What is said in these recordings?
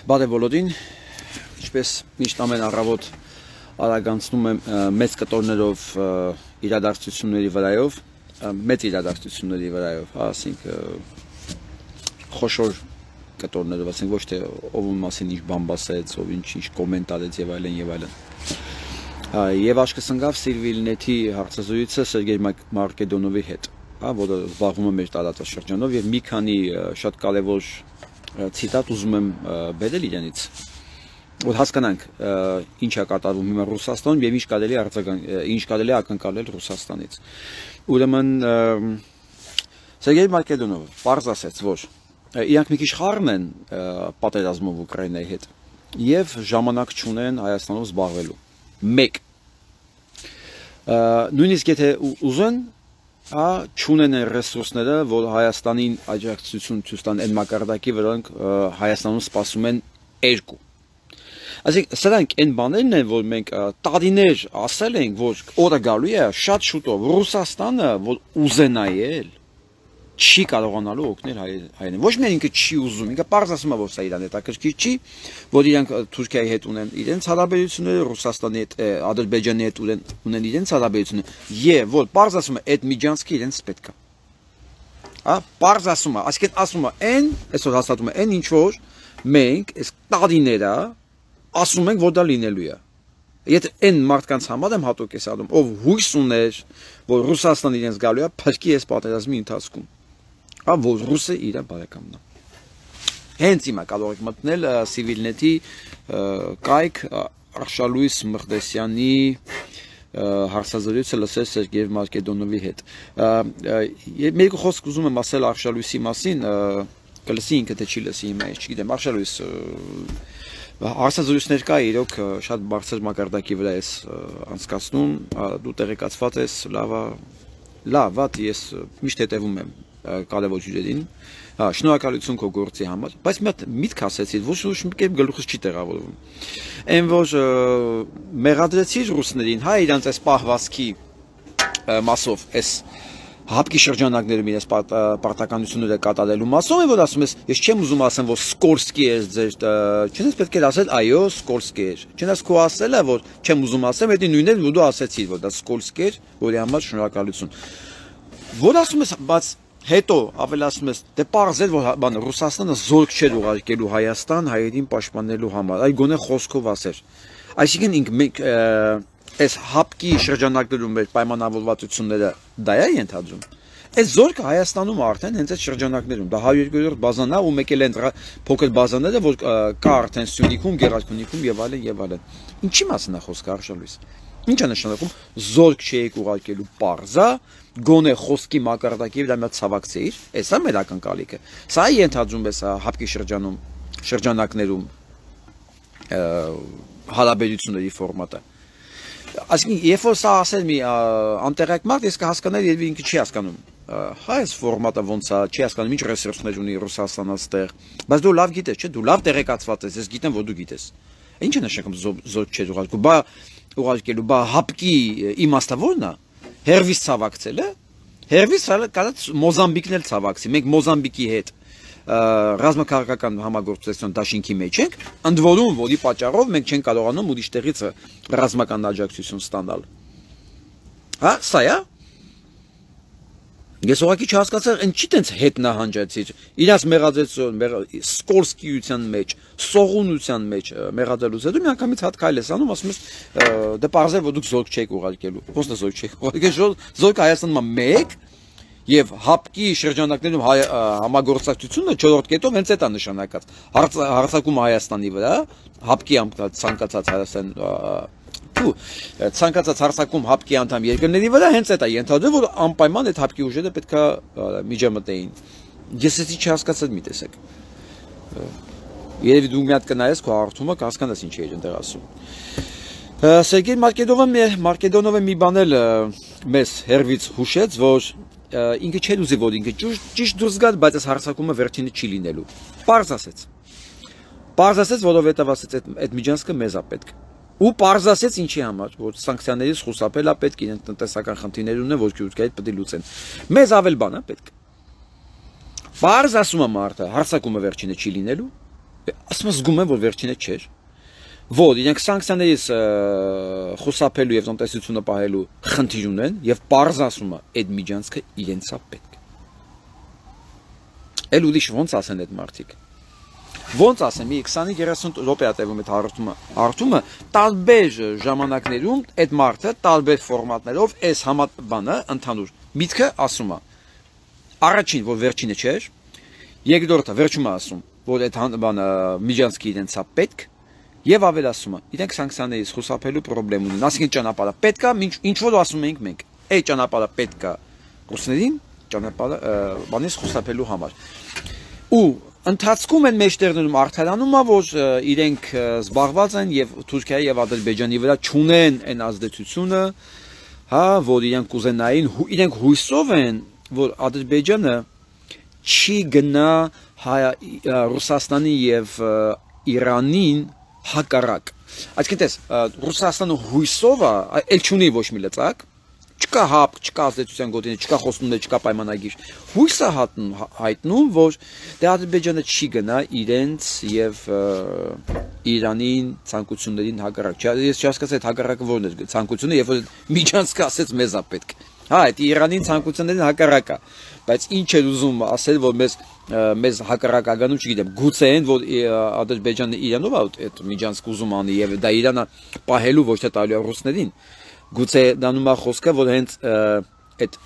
Բարև բոլորին, ինչպես միշտ ամեն առավոտ արագանցնում եմ մեծ կտորներով իրադարձությունների վրայով, մեծ իրադարձությունների վրայով, ասենք խոշոր կտորներով, ասենք ոչ թե ով մասին ինչ բան ասեց, ով ինչ կոմենտ արեց եւ այլն եւ այլն։ Եվ աչքս ընկավ Սիրվիլնեթի հարցազրույցը Սերգեյ Մարկեդոնովի հետ, որը զբաղվում է մեր տարածաշրջանով եւ մի քանի շատ կարեւոր ցիտատ ուզում եմ բերել իրենից, որ հասկանանք ինչ է կատարվում հիմա Ռուսաստանում եւ ինչ կարելի է ակնկալել Ռուսաստանից։ Ուրեմն Սերգեյ Մարկեդոնովը պարզ ասեց, որ իրանք մի քիչ խառն են պատերազմով Ուկրաինայի հետ եւ ժամանակ չունեն Հայաստանով զբաղվելու։ Մեկ նույնիսկ եթե ուզեն չունեն են ռեսուրսները, որ Հայաստանին աջակցություն ցույց տան այն մակարդակի, որոնք Հայաստանում սպասում են երկու։ Այսինքն սրանք այն բաներն են, որ մենք տարիներ ասել ենք, որ օրը գալու է շատ շուտով Ռուսաստանը, որ ուզենայել չի կարողանալու օգնել հայերին։ Ոչ միայն ինքը չի ուզում, ինքը պարզ ասում է, որ սա իրան հետաքրքիր չի, որ իրանք Թուրքիայի հետ ունեն իրենց հարաբերությունները, Ռուսաստանի հետ, Ադրբեջանի հետ ունեն իրենց հարաբերությունները, եւ որ պարզ ասում է, այդ միջանցքը իրենց պետք է։ Պարզ ասում է, այսինքն ասում է, այն, այսօր հաստատում է, այն ինչ որ մենք այս տարիները ասում ենք, որ դա լինելու է։ Եթե այն մարդկանց համար եմ հատուկ ես անում, ով հույս ուներ, որ Ռուսաստանը իրենց գալու է փրկի այս պատերազմի ընթացքում, որ ռուսը իր բարեկամն է։ Հենց հիմա կարող եք մտնել Սիրվիլնեթի կայք Արշալույս Մղդեսյանի հարցազրույցը լսել Սերգեյ Մարկեդոնովի հետ։ Եվ մի խոսք ուզում եմ ասել Արշալույսի մասին, կլսի ինքը թե չի լսի հիմա, ես չգիտեմ, Արշալույս հարցազրույցներ կա, իրոք շատ բարձր մակարդակի վրա ես անցկացնում, դու տեղեկացված ես, լավ, ես միշտ հետևում եմ կարևոր հյուրերին, շնորհակալություն քո գործի համար, բայց մի հատ միտք ասեցիր, ոչ մի կերպ գլուխս չի տեղավորվում։ Այն որ մեղադրեցիր ռուսներին, իրանց այս պահվածքի մասով, այս հապկի շրջանակներում իրենց պարտականությունները կատարելու մասով է, որ ասում ես, ես չեմ ուզում ասեմ, որ Սկորսկի է ձեր, չնայած պետք է ասել, այո, Սկորսկի էր։ Չնայած քո ասելը, որ չեմ ուզում ասեմ, դա նույնն է, որ դու ասեցիր, որ դա Սկորսկի էր, որի համար շնորհակալություն։ Որ ասում ես, բայց հետո ավելացնում ես, դե պարզ էր, որ Ռուսաստանը զորք չէր ուղարկելու Հայաստան հայերին պաշտպանելու համար, այլ գոնե խոսքով ասեր։ Այսինքն մենք այս հապկի շրջանակներում մեր պայմանավորվածությունները դա է ենթադրում։ Այս զորքը Հայաստանում արդեն հենց այդ շրջանակներում, դա 102-րդ բազան է ու մեկ էլ այն փոքր բազաները, որ կա արդեն Սյունիքում, Գեղարքունիքում եւ այլն եւ այլն։ Ինչի մասին է խոսքը Արշալույս։ Ինչ է նշանակում զորք չէիք ուղարկելու պարզա, գոնե խոսքի մակարդակի վրա մի ցավակցեիր, էսա մեր ակնկալիքը։ Սա է ենթադրում էս հապկի շրջանակներում հարաբերությունների ֆորմատը։ Այսինքն, երբ որ սա ասել մի անտեղյակ մարդ, ես կհասկանայի, երբ ինքը չի հասկանում։ Այս ֆորմատը ոնց է, չի հասկանում, ինչ ռեսուրսներ ունի Ռուսաստանը այստեղ։ Բայց դու լավ գիտես, չէ՞, դու լավ տեղեկացված ես, ես գիտեմ, որ դու գիտես։ Ինչ է նշանակում զորք չէ ուղարկելու, հապկի իմաստը ո՞րն է։ Հերվիս ցավակցելը։ Հերվիս կարած Մոզամբիկն էլ ցավակցի։ Մենք Մոզամբիկի հետ ռազմաքաղաքական համագործակցության դաշինքի մեջ ենք, ընդ որում, որի պատճառով մենք չենք կարողանում ուրիշ տեղից ռազմական աջակցություն ստանալ։ Սա է։ Ես ուղղակի չհասկացա, ինչի տենց հետ նահանջեցիր։ Իրաց մեղադրեցություն, Սկորսկիության մեջ, սողունության մեջ մեղադրելուց հետո միանգամից հատ քայլ ես անում, ասում ես, դե պարզ է, որ դուք զորք չեք ուղարկելու։ Ոնց է զորք չեք ուղարկելու, զորքը Հայաստանում մեկ եւ հապկի շրջանակներում համագործակցությունը 4-րդ կետով հենց այդ է նշանակած։ Հարձակում Հայաստանի վրա, հապկի ցանկացած Հայաստան ցանկացած հարձակում հապկի անդամ երկրների վրա հենց այդ է ենթադրում, որ անպայման այդ հապկի ուժերը պետքա միջամտեին։ Ես էսի չհասկացա մի տեսակ։ Երևի դու մի հատ կնայես քո հարթումը կհասկանաս ինչ է այնտեղ ասում։ Սերգեյ Մարկեդոնովը մի բան էլ մեզ հերվից հուշեց, որ ինքը չէր ուզի, որ ինքը ճիշտ դուրս գա, բայց այս հարձակումը վերջինը չի լինելու։ Պարզ ասեց, որովհետև ասեց այդ միջանցքը մեզ է պետք։ Ու պարզ ասեց ինչի համար, որ սանկցիաներից խուսափել է պետք, իրենց տնտեսական խնդիրներ ունեն, որ Թուրքիայից պետք է լուծեն։ Մեզ ավել բան է պետք։ Պարզ ասում է մարդը, հարձակումը վերջինը չի լինելու, ասում զգում եմ, որ վերջինը չէր։ Որ իրենք սանկցիաներից խուսափելու եւ տնտեսությունը պահելու խնդիր ունեն եւ պարզ ասում է, այդ միջանցքը իրենց է պետք։ Էլ ուրիշ ոնց ասեն այդ մարդիկ։ Ոնց ասեմ, մի 20-30 րոպե տևում այդ հարթումը տարբեր ժամանակներում այդ մարդը տարբեր ֆորմատներով այս բանը ընդհանուր միտքը ասում է։ Առաջին, որ վերջինը չէր, երկրորդը վերջում է ասում, որ այդ բանը միջանցքի իրենց է պետք, եւ ավելացում է, իրենք սանկցիաներից խուսափելու խնդրեմ ունեն, ասենք ճանապարհը պետք է, ինչ որ ասում ենք մենք, այդ ճանապարհը պետք է ռուսներին ճանապարհը բանից խուսափելու համար։ Ու ընթացքում են մեջտեղներում արդարանում է, որ իրենք զբաղված են եւ Թուրքիայի եւ Ադրբեջանի վրա չունեն այն ազդեցությունը, հա, որ իրենք կուզենային, իրենք հույսով են, որ Ադրբեջանը չի գնա Ռուսաստանի եւ Իրանին հակառակ։ Այսինքն տես, Ռուսաստանը հույսով է, էլ չունի ոչ մի լծակ, չկա հապ, չկա ազդեցության գոտիներ, չկա խոստումներ, չկա պայմանագիր։ Հույս է հայտնում, որ դե Ադրբեջանը չի գնա իրենց եւ Իրանին ցանկություններին հակառակ։ Ես չհասկացա այդ հակառակը որն է ցանկությունը, երբ որ միջանցքը ասեց մեզ է պետք։ Հա, այդ Իրանին ցանկություններին հակառակ է, բայց ինչ է ուզում ասել, որ մեզ հակառակագանում, չգիտեմ, գուցե են, որ Ադրբեջանը Իրանով այդ միջանցք ուզում անի եւ դա Իրանը պահելու ոչ թե տալու ռուսներին։ Գուցե դանում է խոսքը, որ հենց այդ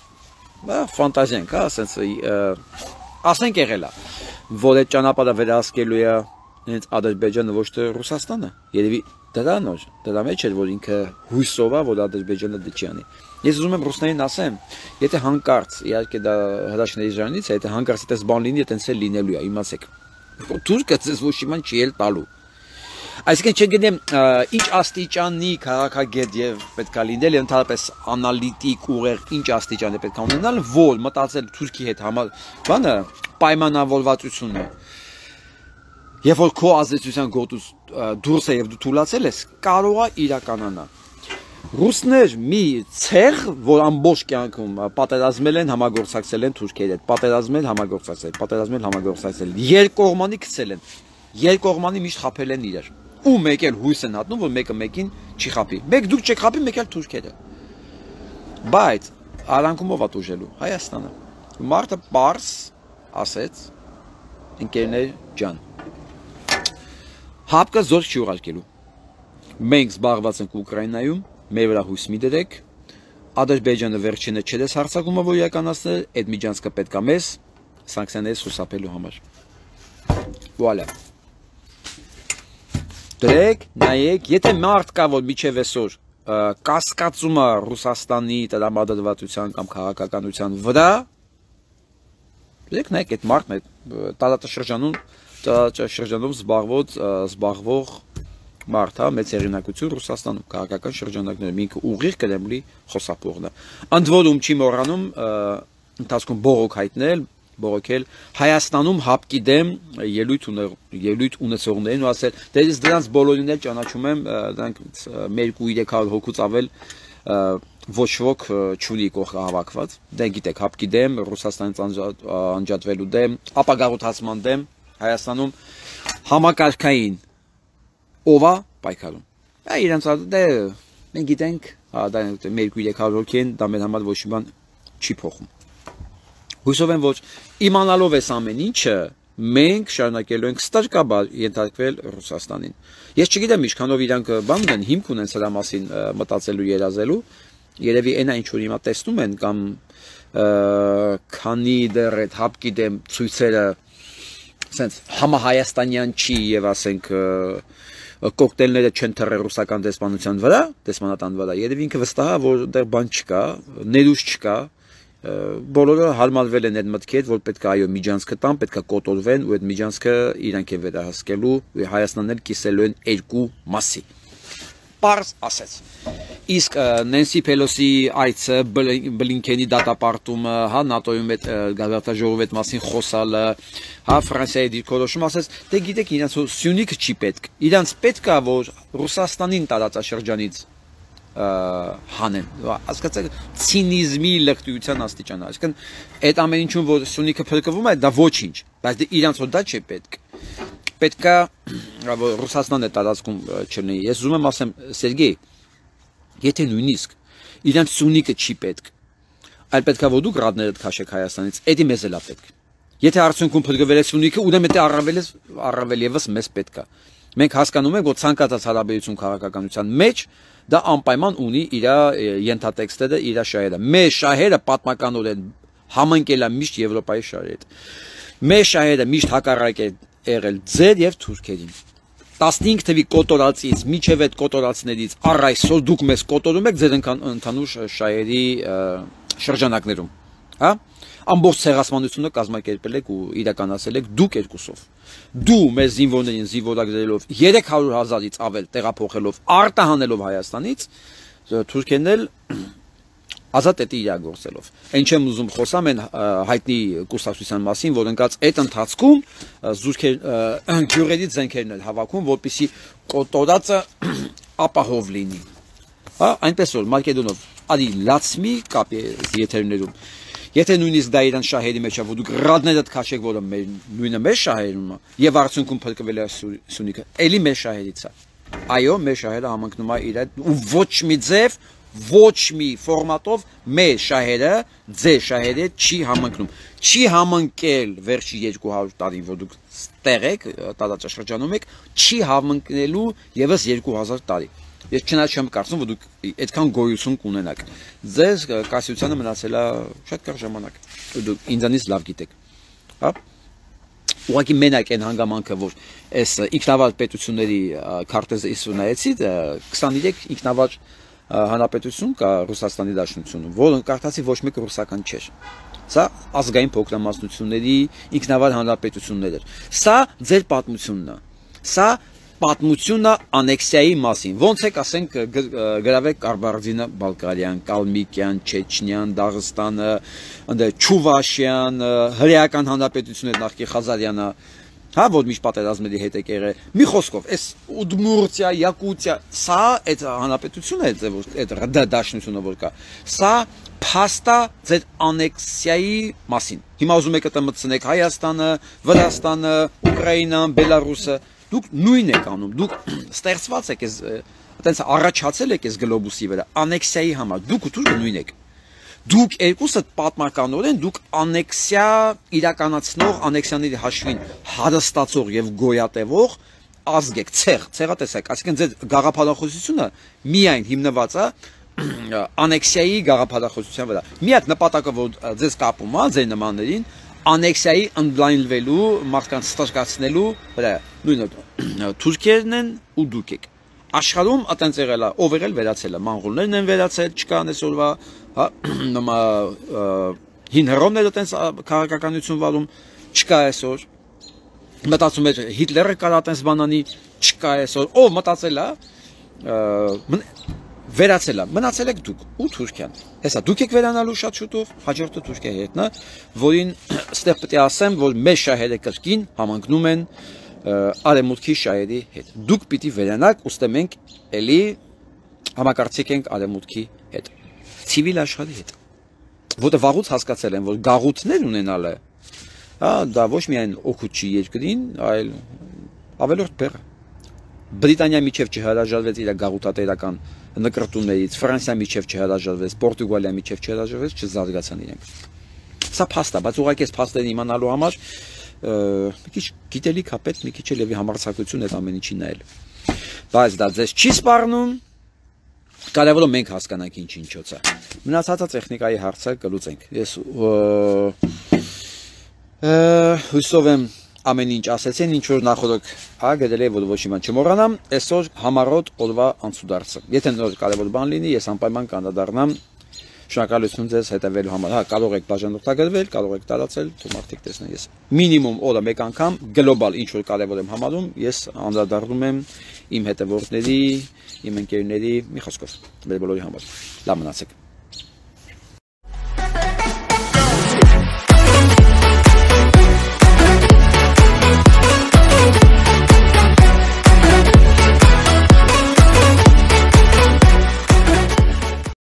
ֆանտազիան կա, ասենց ասենք եղել է, որ այդ ճանապարհը վերահսկելու է հենց Ադրբեջանը ոչ թե Ռուսաստանը։ Երևի դրա մեջ էր, որ ինքը հույսով է, որ Ադրբեջանը դա չի անի։ Ես ուզում եմ ռուսներին ասեմ, եթե հանկարծ, իհարկե դա հրաշքների ժանից է, եթե հանկարծ այդպես բան լինի, այդպես էլ լինելու է, իմացեք։ Թուրքը ձեզ ոչ իման չի էլ տալու։ Այսինքն չգիտեմ, ինչ աստիճանի քաղաքագետ եւ պետքա լինել, եւ ընդհանրապես անալիտիկ ուղեր ինչ աստիճան է պետք է ունենալ, որ մտածել Թուրքի հետ բանը պայմանավորվածությունը։ Եվ որ քո ազդեցության գոտուց դուրս է եւ դու թուլացել ես, կարող է իրականանա։ Ռուսներ մի ցեղ, որ ամբողջ կյանքում պատերազմել են, համագործակցել են Թուրքիայի հետ, պատերազմել, համագործակցել, երկկողմանի գցել են, երկկողմանի միշտ խաբել են իրար։ Ու մեկ էլ հույս են հատնում, որ մեկը մեկին չի խաբի։ Մեկ դուք չեք խաբի, մեկ էլ թուրքերը։ Բայց արանքումով է ուժելու Հայաստանը։ Մարդը պարզ ասեց, ընկերներ ջան, հապկը զորք չի ուղարկելու։ Մենք զբաղված ենք Ուկրաինայում, մեր վրա հույս մի դրեք, Ադրբեջանը վերջինը չես հարձակումը, որ իրականացնել, այդ միջանցքը պետք է մեզ սանկցիաներից խուսափելու համար։ Վուալա։ Դրեք, նայեք, եթե մարդ կա, որ միջև այսօր կասկածում է Ռուսաստանի տրամադրվածության կամ քաղաքականության վրա, դրեք նայեք այդ մարդն է տարածաշրջանում զբաղվող մարդ է, մեծ հեղինակություն Ռուսաստանում, քաղաքական շրջանակներում, ինքը ուղիղ Կրեմլի խոսափողն է։ Ընդ որում չի մոռանում ընթացքում բողոքել Հայաստանում հապկի դեմ ելույթ ունեցողներին ու ասել, դե ես դրանց բոլորին էլ ճանաչում եմ, դրանք 200-300 հոգուց ավել ոչ ոք չունի կողքը հավաքված, դա գիտեք, հապկի դեմ, Ռուսաստանից անջատվելու դեմ, ապագաղութացման դեմ, Հայաստանում համակարգային ով է պայքարում։ Դա իրենց դե մենք գիտենք, դա 200-300 հոգի են, դա մեր համար ոչ մի բան չի փոխում։ Հույսով եմ, որ իմանալով այս ամեն ինչը մենք շարունակելու ենք ստարկաբար ենթարկվել Ռուսաստանին։ Ես չգիտեմ ինչքանով իրանք բան ունեն, հիմք ունեն սրա մասին մտածելու, երազելու, երևի այնա ինչ որ հիմա տեսնում են կամ քանի դեռ այդ հապկի դեմ ցույցերը ասենց համահայաստանյան չի եւ ասենք կոկտեյլները չեն թռել ռուսական դեսպանատան վրա, երևի ինքը վստահ է, որ դեռ բան չկա, ներուժ չկա, բոլորը հարմարվել են այդ մտքի հետ, որ պետք է այո միջանցքը տան, պետք է կոտորվեն ու այդ միջանցքը իրանք են վերահսկելու ու Հայաստանն էլ կիսելու են երկու մասի։ Պարզ ասեց։ Իսկ Նենսի Փելոսի այցը, Բլինքենի դատապարտումը, հա ՆԱՏՕ-ում այդ գազարտաժողովի հետ մասին խոսալը, հա Ֆրանսիայի դիրքորոշումը ասեց, դե գիտեք իրանց Սյունիքը չի պետք։ Իրանց պետք է որ Ռուսաստանին տարածաշրջանից հանեն, հասկացեք ցինիզմի լղտիության աստիճանը, այսինքն այդ ամեն ինչում որ Սյունիքը փրկվում է, դա ոչինչ, բայց դե իրանց որ դա չի պետք։ պետքա Ռուսաստանն է տարածքում չլինի։ Ես ուզում եմ ասեմ, Սերգեյ, եթե նույնիսկ իրենց սունիկը չի պետք, այլ պետքա որ դուք ռադներդ քաշեք Հայաստանից, էդի մեզ էլ է պետք։ Եթե արդյունքում փրկվել է սունիկը, ուրեմն դա առավել եւս մեզ պետք է։ Մենք հասկանում ենք, որ ցանկացած հարաբերություն քաղաքականության մեջ դա անպայման ունի իր ենթատեքստերը, իր շահերը։ Մեր շահերը պատմականորեն համընկել են միշտ Եվրոպայի շահերի հետ։ Մեր շահերը միշտ հակառակ է եղել ձեր եւ թուրքերին։ 15 թվի կոտորածից միջև այդ կոտորածներից առ այսօր դուք մեզ կոտորում եք ձեր ընդհանուր շահերի շրջանակներում, հա? Ամբողջ ցեղասպանությունը կազմակերպել եք ու իրականացել եք դուք երկուսով։ Դու մեր զինվորներին զինվորագրելով 300,000-ից ավել տեղափոխելով արտահանելով Հայաստանից, թուրքերն էլ ազատ էտի իրագործելով։ Այն չեմ ուզում խոսամ այն հայտնի կուսակցության մասին, որ ընկած այդ ընթացքում գյուղերից զենքերն էլ հավաքում, որպեսզի կոտորածը ապահով լինի։ Հա, այնպես որ Մակեդոնով արի լացմի կապի եթերներում։ Եթե նույնիսկ դա իրան շահերի մեջ է, որ դուք ռադներդ քաշեք, որը նույնը մեր շահերում է, եւ արդյունքում փրկվել է սունիկը, էլի մեր շահերից է։ Այո, մեր շահերը համընկնում է իր հետ ու ոչ մի ձև, ոչ մի ֆորմատով մեր շահերը ձեր շահերի հետ չի համընկնում։ Չի համընկել վերջի 200 տարին, որ դուք տեղ եք, տարածաշրջանում եք, չի համընկնելու եւս 2000 տարի։ Ես չնայած չեմ կարծում, որ դուք այդքան գոյություն կունենաք։ Ձեզ կասյությանը մնացել է շատ կարճ ժամանակ։ Դուք ինձանից լավ գիտեք։ Հա։ Ուղղակի մենակ այն հանգամանքը, որ այս ինքնավար պետությունների քարտեզը իսունայեցի 23 ինքնավար հանրապետություն կա Ռուսաստանի Դաշնությունում, որը կարդացի ոչ մեկը ռուսական չէր։ Սա ազգային փոքրամասնությունների ինքնավար հանրապետություններ էր։ Սա ձեր պատմությունն է։ Սա պատմությունը անեքսիայի մասին, ոնց եք ասենք գրավեք Կարբարդինը, Բալկարիան, Կալմիկյան, Չեչնյան, Դաղստանը, Չուվաշյան, հրեական հանրապետություններ նախկին Խազարյանը, հա, որ միշտ պատերազմների հետ եք եղել։ Մի խոսքով, այս Ուդմուրտիա, Յակուտիա, սա այդ հանրապետությունը է, այդ դաշնությունը որ կա, սա փաստա ձեր անեքսիայի մասին։ Հիմա ուզում եք մտցնեք Հայաստանը, Վրաստանը, Ուկրաինան, Բելարուսը, դուք նույնն եք անում, դուք ստեղծված եք այս այտենց առաջացել եք այս գլոբուսի վրա, անեքսիայի համար, դուք ու թուրքը նույն եք։ Դուք երկուսը պատմականորեն դուք անեքսիա իրականացնող, անեքսիաների հաշվին հարստացող եւ գոյատևող ազգ եք, ցեղատեսակ, այսինքն ձեր գաղափարախոսությունը միայն հիմնված է անեքսիայի գաղափարախոսության վրա։ Միակ նպատակը, որ ձեզ կապում է ձեր նմաններին, անեքսիայի ընդլայնվելու, մարդկանց ստրկացնելու վրա։ Նույնը թուրքերն են ու դուք եք։ Աշխարհում այտենց եղել է, ով եղել վերացել է, մոնղոլներն են վերացել, չկան այսօրվա, հա, նոմա հին հռոմները այտենց քաղաքականություն վարում, չկա այսօր։ Մտածում էր Հիտլերը կար այտենց բանանի, չկա այսօր։ Ով մտածել է, վերացել է, մնացել եք դուք ու Թուրքիան։ Հեսա դուք եք վերանալու շատ շուտով, հաջորդը Թուրքիայի հետն է, որին ստեղ պետք է ասեմ, որ մեր շահերը կրկին համընկնում են արևմուտքի շահերի հետ։ Դուք պիտի վերանաք, ուստի մենք էլի համակարծիք ենք արևմուտքի հետ, ցիվիլ աշխարհի հետ։ Որտեղ վաղուց հասկացել են, որ գաղութներ ունենալը, հա, դա ոչ միայն օգուտ չի երկրին, այլ ավելորդ բեռ։ Բրիտանիա միջև չհրաժարվեց իր գաղութատերական նկրտումներից, Ֆրանսիա միջև չհրաժարվեց, Պորտուգալիա միջև չհրաժարվեց, չզարգացան իրենք։ Սա փաստ է, բայց ուղղակի այս փաստերն իմանալու համար մի քիչ գիտելիք է պետք, մի քիչ էլ եւի համարձակություն այդ ամեն ինչի նայել։ Բայց դա ձեզ չի սպառնում, կարևորը մենք հասկանանք ինչ-ինչոց է։ Մնացածը տեխնիկայի հարցը կլուծենք։ Ես հույսով եմ ամեն ինչ ասեցին, ինչ որ նախորդ գրել է, որ ոչ մի բան չմոռանամ, այսօր համառոտ օրվա անցուդարձը։ Եթե նոր կարևոր բան լինի, ես անպայման կանդրադառնամ։ Շնորհակալություն ձեզ հետևելու համար։ Հա, կարող եք բաժանորդագրվել, կարող եք տարածել, թող մարդիկ տեսնեն։ Ես մինիմում օրը մեկ անգամ գլոբալ ինչ որ կարևոր եմ համարում, ես անդրադառնում եմ իմ հետևորդների, իմ ընկերների, մի խոսքով, մեր բոլորի համար։ Լավ մնացեք։